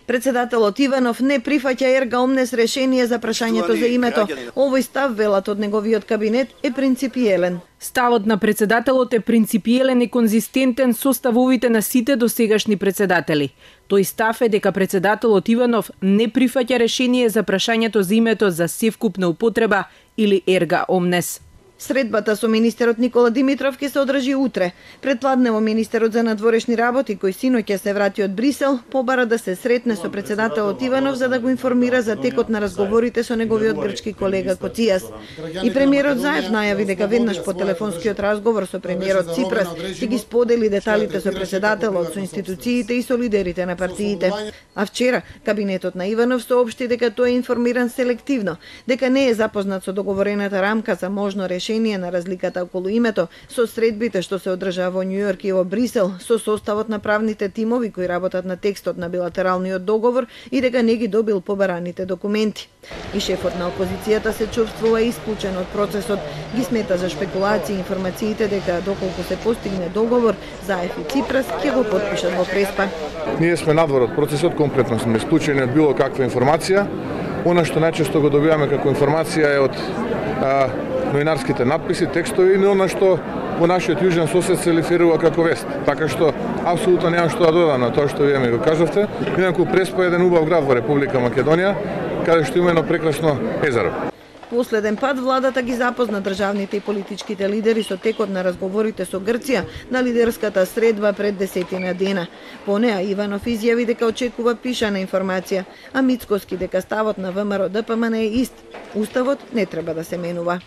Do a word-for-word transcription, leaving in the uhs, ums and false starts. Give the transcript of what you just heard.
Председателот Иванов не прифаќа ерга омнес решение за прашањето за името. Овој став, велат од неговиот кабинет, е принципиелен. Ставот на председателот е принципиелен и конзистентен со ставовите на сите досегашни председатели. Тој став е дека председателот Иванов не прифаќа решение за прашањето за името за севкупна употреба или ерга омнес. Средбата со министерот Никола Димитров ќе се одржи утре. Предпладнево министерот за надворешни работи, кој синоќ ќе се врати од Брисел, побара да се сретне со председателот Иванов за да го информира за текот на разговорите со неговиот грчки колега Коцијас. И премиерот Заев најави дека веднаш по телефонскиот разговор со премиерот Ципрас ќе ги сподели деталите со председателот, со институциите и со лидерите на партиите. А вчера кабинетот на Иванов соопшти дека тој е информиран селективно, дека не е запознат со договорената рамка за можно решение на разликата околу името, со средбите што се одржаа во Њујорк и во Брисел, со составот на правните тимови кои работат на текстот на билатералниот договор и дека не ги добил побараните документи. И шефот на опозицијата се чувствува исклучен од процесот, ги смета за шпекулации информациите дека доколку се постигне договор, Заев и Ципрас ќе го потпишат во преспа. Ние сме надвор од процесот, комплетно сме исклучени од било каква информација. Она што најчесто го добиваме како информација е од а, новинарските надписи, текстови, и она што во нашиот јужен сосед се реферира како вест. Така што апсолутно немам што да додам на тоа што вие ми го кажавте. Инаку Преспа е еден убав град во Република Македонија, каде што има едно прекрасно езеро. Последен пат владата ги запозна државните и политичките лидери со текот на разговорите со Грција на лидерската средба пред десетина дена. По неа Иванов изјави дека очекува пишана информација, а Мицкоски дека ставот на ВМРО ДПМН е ист. Уставот не треба да се менува.